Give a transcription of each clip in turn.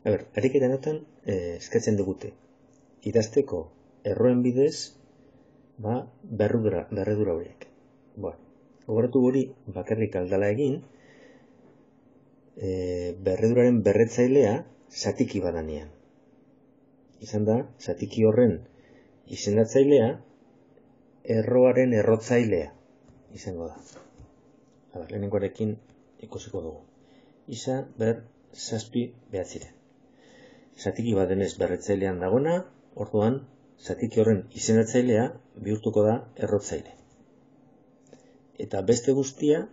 Ariketa honetan eskatzen digute idazteko erroen bidez berredura horiek. Gogoratu hori bakarrik aldala egin, berreduraren berretzailea zatiki badanean. Izan da, zatiki horren izendatzailea erroaren errotzailea izango da. Lehenengoarekin ikusiko dugu. Isa ber zazpi behatziren. Zatiki badenez berretzailean dagoena, orduan zatiki horren izendatzailea bihurtuko da errotzaile. Eta beste guztia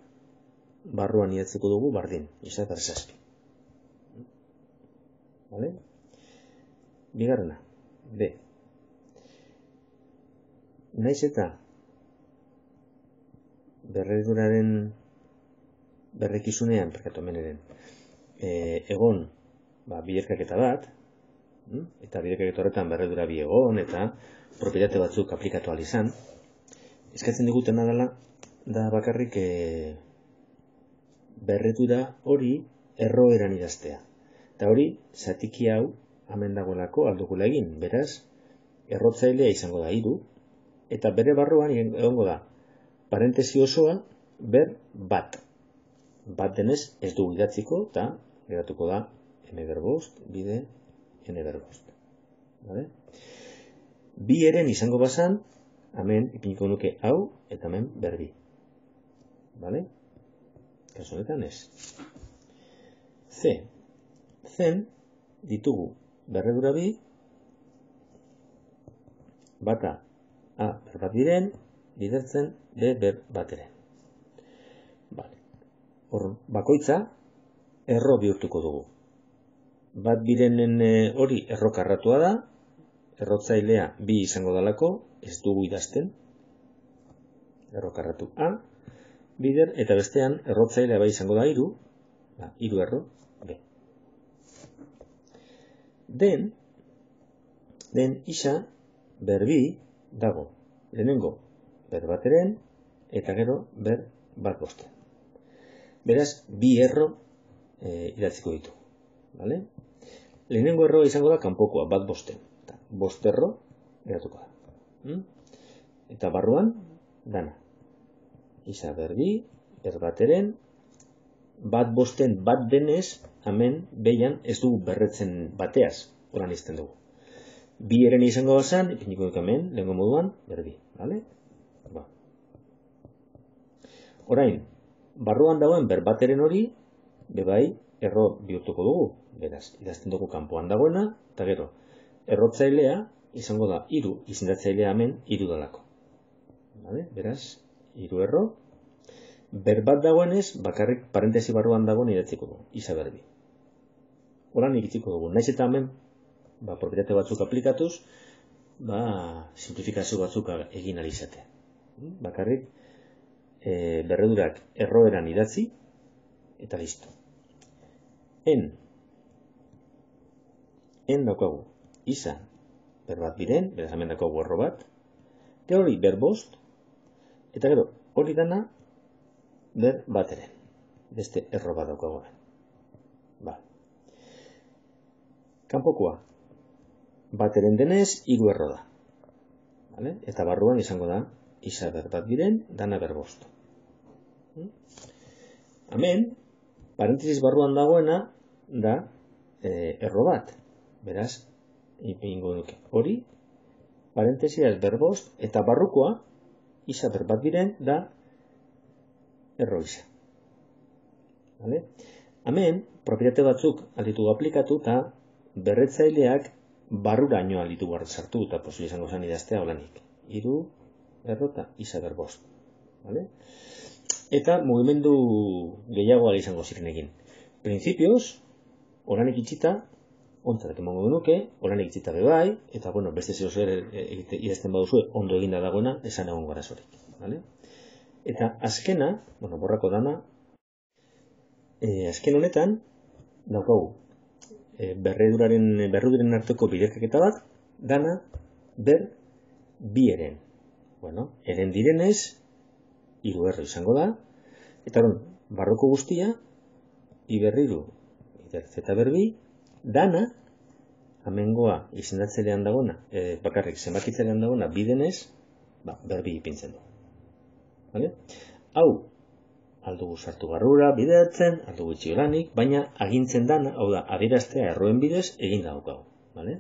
barruan idatziko dugu bardin, isa ber zazpi. Bigarrena, B. Naiz eta berreduraren berrekizunean, egon biderkaketa bat, eta biderkaketa horretan berredura bi egon, eta propietate batzuk aplikatu ahal izan, eskatzen digutena dela, da bakarrik berredura hori erroeran idaztea. Eta hori, zatiki hau, hemen dagoelako aldukula egin, beraz, errotzailea izango da 3, eta bere barruan egongo da, parentesi osoa, ber bat. Bat denez ez dugu idatziko, eta geratuko da n-5 bide n-5. Bi eren izango bazan, hemen ipiniko nuke hau, eta hemen berbi. Kasu honetan ez. C. Zen ditugu berredura bi, bata A ber bat diren, bidertzen B ber bateren. Hor, bakoitza erro bihurtuko dugu. Bat birenen hori errokarratua da, errotzailea bi izango dalako, ez dugu idazten, errokarratu A, bider, eta bestean errotzailea bai izango da 3, 3 erro B. Den isa berbi dago, lehenengo ber bateren, eta gero ber bat bosten. Beraz, bi erro idatziko ditu. Lehenengo erroa izango da kanpokoa, bat bosten. Bost erro geratuko da. Eta barruan, dana. Isa berbi, ber bateren, bat bosten bat denez, hemen behian ez dugu berretzen bateaz, horan izten dugu. Bi eren izango bazan, ipiniko duk hemen, lehengo moduan, berbi. Orain, barruan dagoen ber bateren hori, bebai, erro bihurtuko dugu. Beraz, idazten dugu kanpoan dagoena, eta gero, errotzailea izango da 3, izendatzailea hemen 3 dalako. Beraz, 3 erro. Ber bat dagoenez, bakarrik parentesi barruan dagoen idatziko dugu, isa berbi. Horan iritziko dugu. Naiz eta hemen, propietate batzuk aplikatuz, simplifikazio batzuk egin alizatea. Bakarrik, berredurak erroeran idatzi, eta listo. En daukagu, isa ber bat biren, beraz hemen daukagu erro bat, eta hori ber bost, eta gero hori dana ber bateren. Beste erro bat daukagu hemen. Kanpokoa, bateren denez 3 erro da. Eta barruan izango da, isa ber bat biren, dana ber bost. Hemen, parentesis barruan dagoena da erro bat. Beraz, ipingo nuke hori, parentesiaz ber bost, eta barrukoa, isa ber bat biren, da erro isa. Hemen, propietate batzuk alditugu aplikatu, eta berretzaileak barruraino alditu behar sartu, eta posible izango zen idaztea holanik. 3 erro eta isa ber bost. Eta mugimendu gehiago ala izango ziren egin. Printzipioz, oranik itxita, ontzat emango genuke, oranik itxita bebai, eta beste zeo zer idazten baduzu, ondo eginda dagoena, esan egon garazorik. Eta azkena, borrako dana, azken honetan, daukagu, berreduren arteko biderkaketa bat, dana ber bi eren. Eren direnez, 3 erro izango da, eta barroko guztia, i berriru, zeta berbi, dana, amengoa izendatzelean dagoena, bakarrik zenbakitzelean dagoena bidenez, berbi ipintzen du. Vale? Hau, aldugu sartu barrura, bideratzen, aldugu itxi lanik, baina agintzen dana, hau da, adieraztea erroen bidez, egin daukagu. Vale?